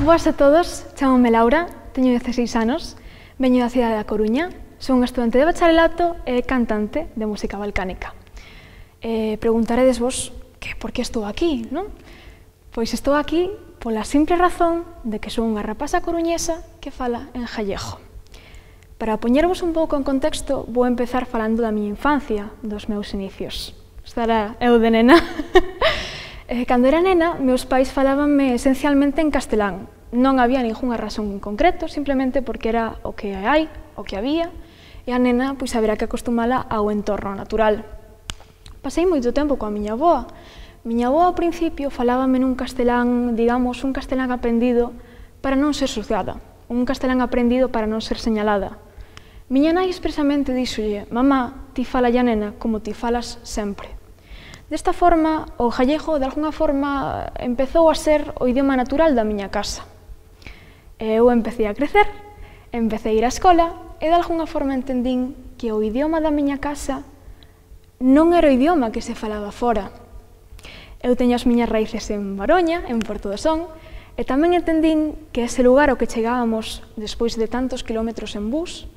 Boas a todos, chamome Laura, teño 16 anos, veño da cidade da Coruña, son estudante de bacharelato e cantante de música balcánica. Preguntaredes vos que por que estou aquí, non? Pois estou aquí pola simple razón de que son unha rapaza coruñesa que fala en gallego. Para poñervos un pouco en contexto, vou empezar falando da miña infancia, dos meus inicios. Estará eu de nena. Cando era nena, meus pais falábanme esencialmente en castelán. Non había ningunha razón en concreto, simplemente porque era o que hai, o que había, e a nena pois haberá que acostumala ao entorno natural. Pasei moito tempo coa miña avoa. Miña avoa ao principio falábame nun castelán, digamos, un castelán aprendido para non ser xuzgada, un castelán aprendido para non ser señalada. Miña nai expresamente díxolle: mamá, ti fala ya nena como ti falas sempre. Desta forma, o gallego, de alguna forma, empezou a ser o idioma natural da miña casa. Eu empecé a crecer, empecé a ir á escola e de alguna forma entendín que o idioma da miña casa non era o idioma que se falaba fora. Eu teño as miñas raíces en Baroña, en Porto do Son, e tamén entendín que ese lugar ao que chegábamos despois de tantos kilómetros en bus,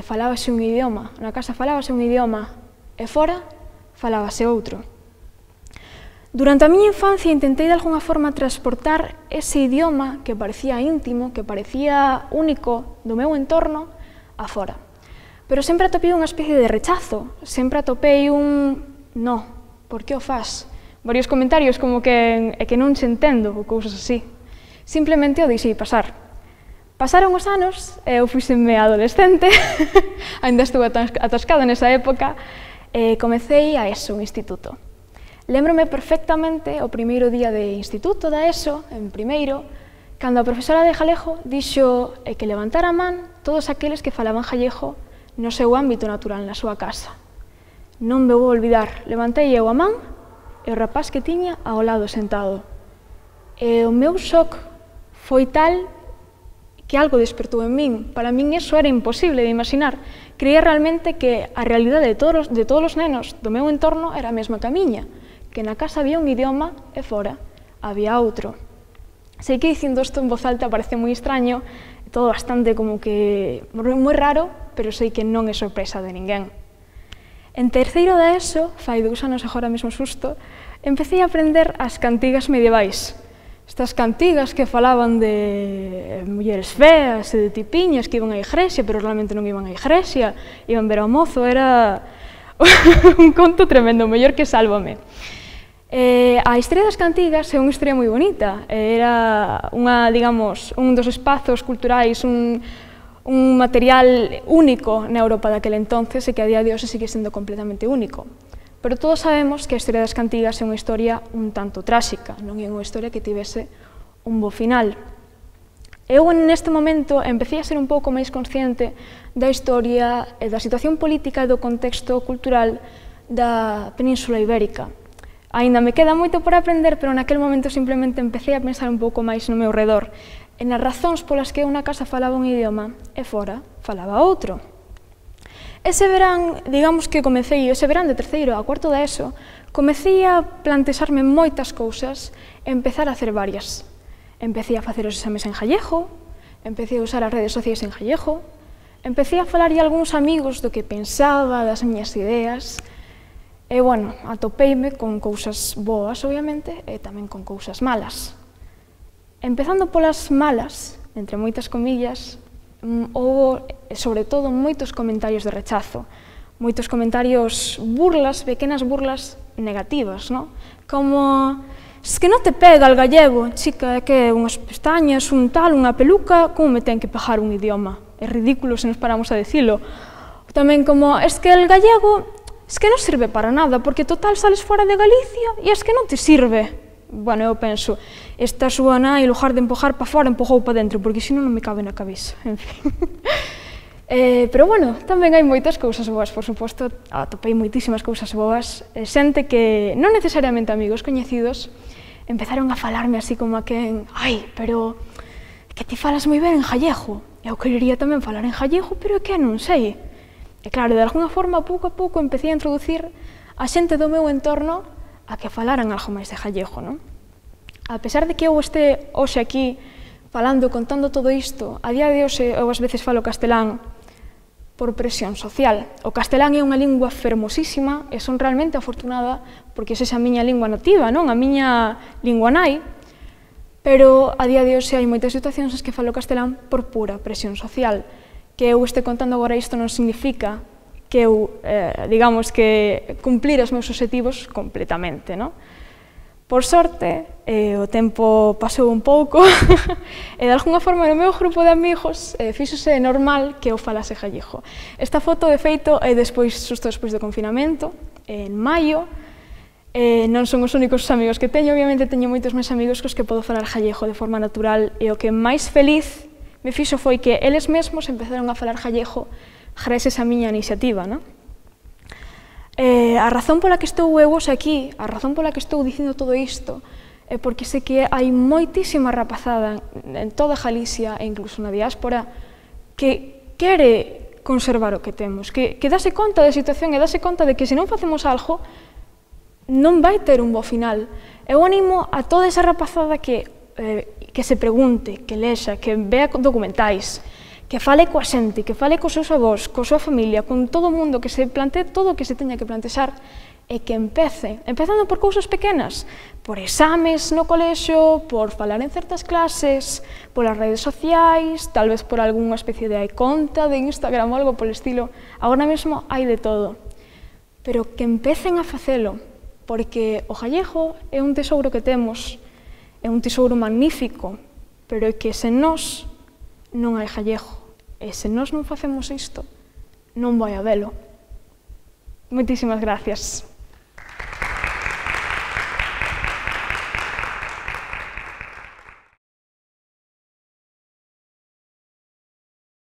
falábase un idioma, na casa falábase un idioma e fora falábase outro. Durante a miña infancia intentei de alguna forma transportar ese idioma que parecía íntimo, que parecía único do meu entorno, a fora. Pero sempre atopei unha especie de rechazo, sempre atopei un no, por que o fas? Varios comentarios como que non se entendo ou cousas así. Simplemente o deixei pasar. Pasaron os anos, eu fíxenme adolescente, ainda estuve atascada nesa época, e comecei a ESO, un instituto. Lémbrome perfectamente o primeiro día de instituto da ESO, en primeiro, cando a profesora de galego dixo que levantara a man todos aqueles que falaban gallego no seu ámbito natural, na súa casa. Non me vou olvidar, levantei eu a man e o rapaz que tiña ao lado sentado. E o meu shock foi tal que algo despertou en min. Para min iso era imposible de imaginar. Creía realmente que a realidade de todos os nenos do meu entorno era a mesma que a miña, que na casa había un idioma e fora había outro. Sei que dicindo isto en voz alta parece moi extraño, todo bastante como que moi raro, pero sei que non é sorpresa de ninguén. En terceiro da ESO, fai 2 anos agora mesmo susto, empecé a aprender as cantigas medievais. Estas cantigas que falaban de mulleres feas e de tipiñas que iban á igrexa, pero realmente non iban á igrexa, iban ver ao mozo, era un conto tremendo, mellor que Sálvame. A historia das cantigas é unha historia moi bonita, era digamos, un dos espazos culturais, un material único na Europa daquele entonces e que a día de hoxe sigue sendo completamente único. Pero todos sabemos que a historia das cantigas é unha historia un tanto tráxica, non é unha historia que tivese un bo final. Eu, neste momento, empecé a ser un pouco máis consciente da historia e da situación política e do contexto cultural da Península Ibérica. Aínda me queda moito por aprender, pero naquele momento simplemente empecé a pensar un pouco máis no meu redor, e nas razóns polas que eu na casa falaba un idioma e fora falaba outro. Ese verán, digamos que comecei, ese verán de terceiro a cuarto da ESO, comecei a plantexarme moitas cousas e empezar a hacer varias. Empecé a facer os exames en gallego, empecé a usar as redes sociais en gallego, empecé a falar a algúns amigos do que pensaba, das miñas ideas, e, bueno, atopeime con cousas boas, obviamente, e tamén con cousas malas. Empezando polas malas, entre moitas comillas, houve, sobre todo, moitos comentarios de rechazo, moitos comentarios burlas, pequenas burlas negativas, non? Como, es que non te pega el gallego, chica, que unhas pestañas, un tal, unha peluca, como me ten que pegar un idioma? É ridículo se nos paramos a dicilo. Tamén como, es que el gallego, es que non sirve para nada, porque total sales fora de Galicia e es que non te sirve. Bueno, eu penso, esta súa nai, en lugar de empujar para fora, empujou para dentro, porque senón non me cabe na cabeza, en fin. Pero, bueno, tamén hai moitas cousas boas, por suposto, atopei moitísimas cousas boas, xente que, non necesariamente amigos coñecidos, empezaron a falarme así como a quen, ai, pero que ti falas moi ben en gallego, eu querería tamén falar en gallego, pero é que non sei. E claro, de alguna forma, pouco a pouco, empecé a introducir a xente do meu entorno a que falaran algo máis de gallego, non? A pesar de que eu este hoxe aquí contando todo isto, a día de hoxe eu ás veces falo castelán por presión social. O castelán é unha lingua fermosísima e son realmente afortunada porque esa é a miña lingua nativa, non? A miña lingua nai, pero a día de hoxe hai moitas situacións nas que falo castelán por pura presión social. Que eu este contando agora isto non significa que eu, digamos, que cumplir os meus obxectivos completamente, non? Por sorte, o tempo pasou un pouco e de alguna forma no meu grupo de amigos fíxose normal que eu falase gallego. Esta foto, de feito, é xusto despois do confinamento, en maio. Non son os únicos amigos que teño, obviamente teño moitos máis amigos cos que podo falar gallego de forma natural e o que máis feliz me fixo foi que eles mesmos empezaron a falar gallego gracias a miña iniciativa, non? A razón pola que estou eu hoxe aquí, a razón pola que estou dicindo todo isto, é porque sei que hai moitísima rapazada en toda Galicia e incluso na diáspora que quere conservar o que temos, que dase conta da situación e dase conta de que se non facemos algo non vai ter un bo final. Eu animo a toda esa rapazada que se pregunte, que lexa, que vea documentais, que fale coa xente, que fale cos seus avós, coa súa familia, con todo o mundo, que se plantee todo o que se teña que plantexar e que empezando por cousas pequenas, por exames no colexio, por falar en certas clases, polas redes sociais, tal vez por algunha especie de conta de Instagram ou algo polo estilo. Agora mesmo hai de todo, pero que empecen a facelo, porque o gallego é un tesouro que temos, é un tesouro magnífico, pero é que sen nós non hai gallego. E se nós non facemos isto, non vai habelo. Moitísimas gracias.